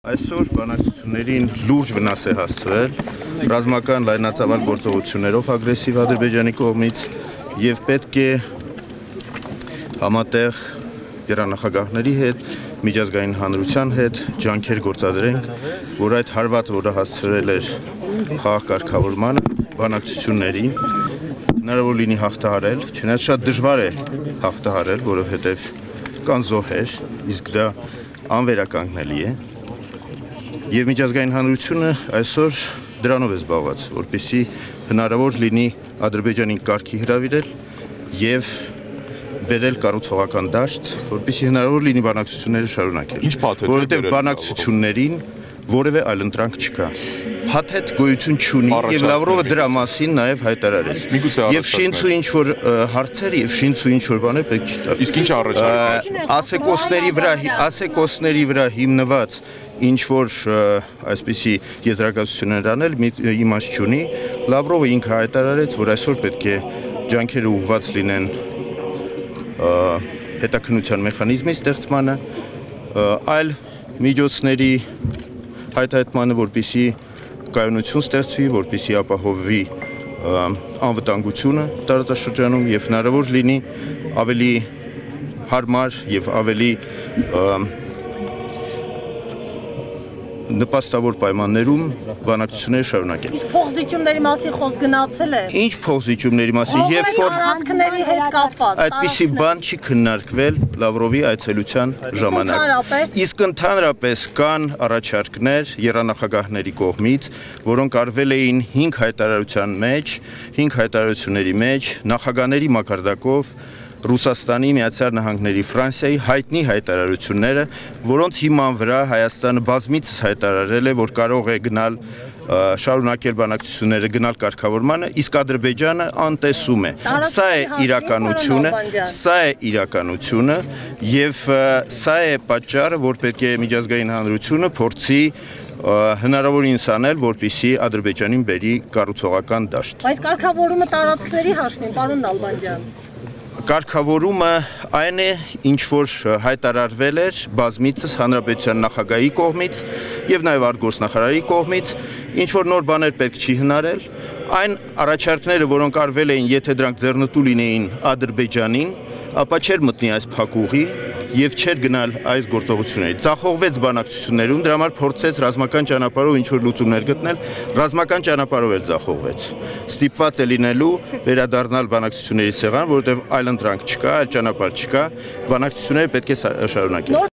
Այսօր բանակցություններին լուրջ վնաս է հասցվել ռազմական լայնածավալ գործողություններով ագրեսիվ Ադրբեջանի կողմից եւ պետք է համատեղ գերնախագահների հետ, միջազգային հանրության հետ ջանքեր գործադրենք, որ այդ հարվածը, որը հասցրել էր խաղաղ կարգավորմանը, բանակցություններին հնարավոր լինի հաղթահարել, չնայած շատ դժվար է հաղթահարել, որովհետեւ կան զոհեր, իսկ դա անվերականգնելի է։ Եվ միջազգային հանրությունը այսօր դրանով է զբաղված, որպեսզի հնարավոր լինի Ադրբեջանին կարգի հրավիրել եւ բերել կառուցողական դաշտ, որպեսզի հնարավոր լինի բանակցությունները շարունակել։ Որովհետեւ բանակցություններին որևէ այլընտրանք չկա։ Փաթեթ գոյություն չունի եւ Լավրովը դրա մասին նաեւ հայտարարեց։ Եվ շինց ու ինչ որ հարցեր եւ շինց ու ինչ որ բաներ պետք չի տալ։ Իսկ ինչ առաջարկում ասեկոսների վրա հիմնված ինչ որ այսպիսի եզրակացություններ անել իմաստ չունի։ Լավրովը ինքը հայտարարեց, որ այսօր պետք է ջանքերը ուղղված լինեն հետաքննության մեխանիզմի ստեղծմանը, այլ միջոցների հայտարարմանը, որպեսզի կայունություն ստեղծվի, որպեսզի ապահովվի անվտանգությունը տարածաշրջանում եւ հնարավոր լինի ավելի հարմար եւ ավելի նպաստավոր պայմաններում բանակցությունները շարունակել։ Իսկ փոխզիջումների մասին խոսք գնացել է։ Ինչ փոխզիջումների մասին, երբ որ տարածքների հետ կապված այդպիսի բան չի քննարկվել Լավրովի այցելության ժամանակ։ Իսկ ընդհանրապես կան առաջարկներ եռանախագահների կողմից, որոնք արվել էին 5 հայտարարությունների մեջ, նախագահների մակարդակով Ռուսաստանի, Միացյալ Նահանգների, Ֆրանսիայի հայտնի հայտարարությունները, որոնց հիման վրա Հայաստանը բազմիցս հայտարարել է, որ կարող է գնալ շարունակել բանակցությունները, գնալ կարգավորմանը, իսկ Ադրբեջանը անտեսում է։ Սա է իրականությունը եւ սա է պատճառը, որ պետք է միջազգային հանրությունը փորձի հնարավորինս անել, որպեսզի Ադրբեջանին բերի կառուցողական դաշտ։ Բայց կարգավորումը տարածքների հաշվին, պարոն Նալբանդյան։ Կարգավորումը այն է, ինչ որ հայտարարվել էր բազմիցս հանրապետության նախագահի կողմից եւ նաեւ արտգործնախարարի կողմից, ինչ որ նոր բաներ պետք չի հնարել, այն առաջարկները, որոնք արվել էին, եթե դրանք ձեռնտու լինեին Ադրբեջանին, ապա չէր մտնի այս փակուղի եւ չէր գնալ այս գործողությունների։ Ձախողվեց բանակցություններում, դրա համար փորձեց ռազմական ճանապարհով ինչ որ լուծումներ գտնել, ռազմական ճանապարհով էլ ձախողվեց։ Ստիպված է լինելու վերադառնալ բանակցությունների սեղան, որովհետեւ այլ ընտրանք չկա, այլ ճանապարհ չկա, բանակցությունները պետք է շարունակել։